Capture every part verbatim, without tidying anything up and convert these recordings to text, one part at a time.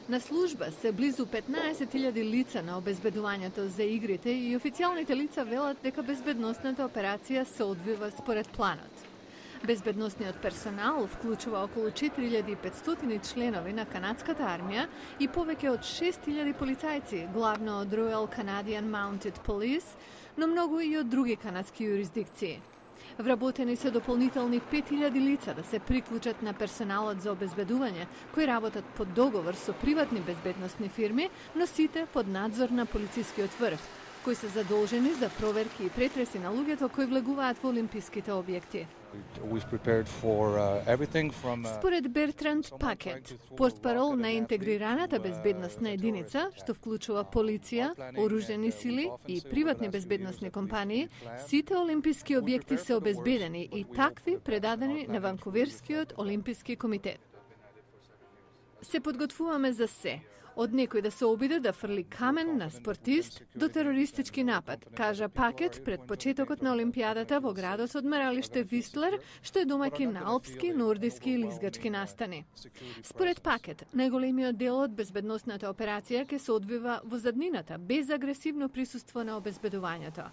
На служба се близу петнаесет илјади лица на обезбедувањето за игрите и официјалните лица велат дека безбедносната операција се одвива според планот. Безбедносниот персонал вклучува околу четири илјади и петстотини членови на канадската армија и повеќе од шест илјади полицајци, главно од Royal Canadian Mounted Police, но многу и од други канадски юрисдикции. Вработени се дополнителни пет илјади лица да се приклучат на персоналот за обезбедување, кои работат под договор со приватни безбедносни фирми, но сите под надзор на полицискиот врв, кои се задолжени за проверки и претреси на луѓето кои влегуваат во олимписките објекти. Според Бертранд Пакет, портпарол на интегрираната безбедносна единица, што вклучува полиција, оружени сили и приватни безбедносни компании, сите олимписки објекти се обезбедени и такви предадени на Ванкуверскиот олимписки комитет. Се подготвуваме за се, од некој да се обиде да фрли камен на спортист до терористички напад, кажа Пакет пред почетокот на Олимпијадата во градот од Одмаралиште Вистлер, што е домаќин на алпски, нордиски и лизгачки настани. Според Пакет, најголемиот дел од безбедносната операција ќе се одвива во заднината, без агресивно присуство на обезбедувањето.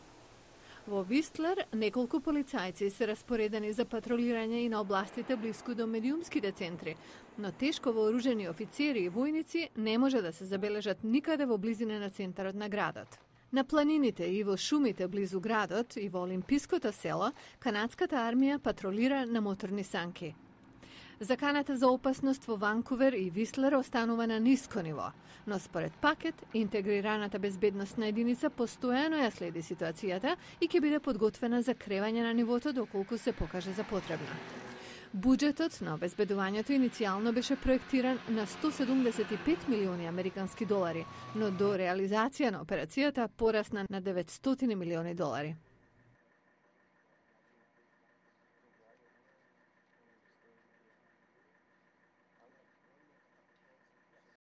Во Вистлер неколку полицајци се распоредени за патролирање и на областите блиску до медиумските центри, но тешко вооружени офицери и војници не може да се забележат никаде во близина на центарот на градот. На планините и во шумите близу градот и во олимпиското село, канадската армија патролира на моторни санки. Заканата за опасност во Ванкувер и Вистлер останува на ниско ниво, но според Пакет, интегрираната безбедносна единица постојано ја следи ситуацијата и ќе биде подготвена за кревање на нивото доколку се покаже за потребна. Буџетот на обезбедувањето иницијално беше проектиран на сто седумдесет и пет милиони американски долари, но до реализација на операцијата порасна на деветстотини милиони долари.